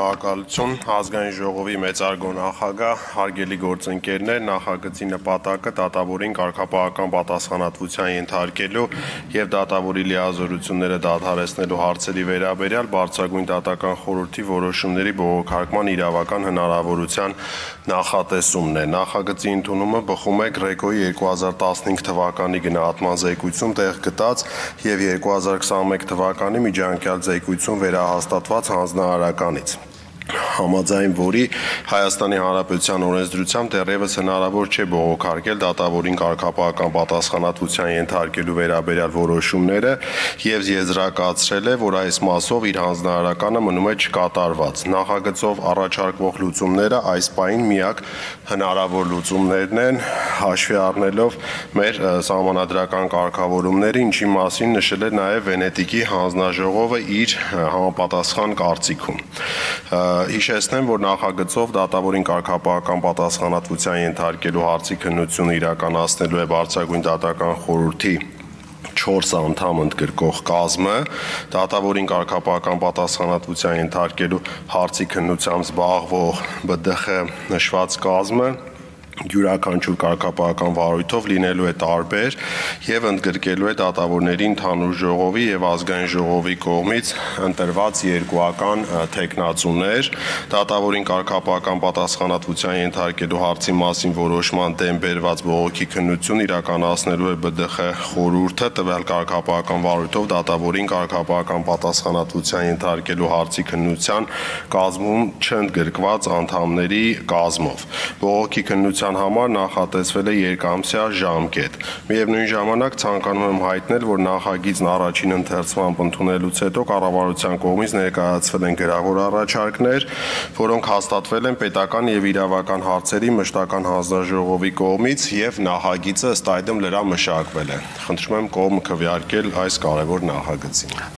Շնորհակալություն ազգային ժողովի մեծարգո նախագահ, հարգելի գործընկերներ, նախագծի նպատակը դատավորին կարգապահական պատասխանատվության ենթարկելու եւ դատավորի լիազորությունները դադարեցնելու հարցերի վերաբերյալ բարձրագույն դատական խորհրդի որոշումների բողոքարկման իրավական հնարավորության նախատեսումն է։ Նախագծի ընդունումը բխում է GRECO-ի 2015 թվականի գնահատման զեկույցում տեղ գտած եւ 2021 թվականի միջանկյալ զեկույցում վերահաստատված հանձնարարականից, համաձայն որի Հայաստանի Հանրապետության օրենսդրությամբ դեռևս հնարավոր չէ բողոքարկել դատավորին կարգապահական պատասխանատվության ենթարկելու վերաբերյալ որոշումները եւ եզրակացրել է, որ այս մասով իր հանձնարարականը մնում է չկատարված։ Նախագծով առաջարկվող լուծումները այս պահին միակ հնարավոր լուծումներն են, հաշվի առնելով մեր սահմանադրական կարգավորումները, ինչի մասին նշել է նաեւ Վենետիկի հանձնաժողովը իր համապատասխան կարծիքում։ Հիշեցնեմ, որ նախագծով դատավորին կարգապահական պատասխանատվության ենթարկելու հարցի քննությունը իրականացնելու է բարձրագույն դատական խորհրդի 4 անդամ ընդգրկող կազմը, դատավորին կարգապահական պատասխանատվության ենթարկելու հարցի քննությամբ զբաղվող ԲԴԽ նշված կազմը յուրաքանչյուր կարգապահական վարույթով լինելու է տարբեր եւ ընդգրկելու է դատավորների ընդհանուր ժողովի եւ ազգային ժողովի կողմից ընտրված երկուական թեկնածուներ, դատավորին կարգապահական պատասխանատվության ենթարկելու հարցի մասին որոշման դեմ բերված բողոքի քննություն իրականացնելու է ԲԴԽ խորհուրդը, տվյալ կարգապահական վարույթով դատավորին կարգապահական պատասխանատվության ենթարկելու հարցի քննության կազմում չընդգրկված անդամների կազմով։ Բողոքի քննության համար նախատեսվել է երկամսյա ժամկետ։ Միևնույն ժամանակ ցանկանում եմ հայտնել, որ նախագիծն առաջին ընթերցմամբ ընդունելուց հետո կառավարության կողմից ներկայացվել են գրավոր առաջարկներ, որոնք հաստատվել են պետական եւ իրավական հարցերի մշտական հանձնաժողովի կողմից եւ նախագիծը ըստ այդմ լրամշակվել է։ Խնդրում եմ կողմ քվեարկել այս կարևոր նախագծին։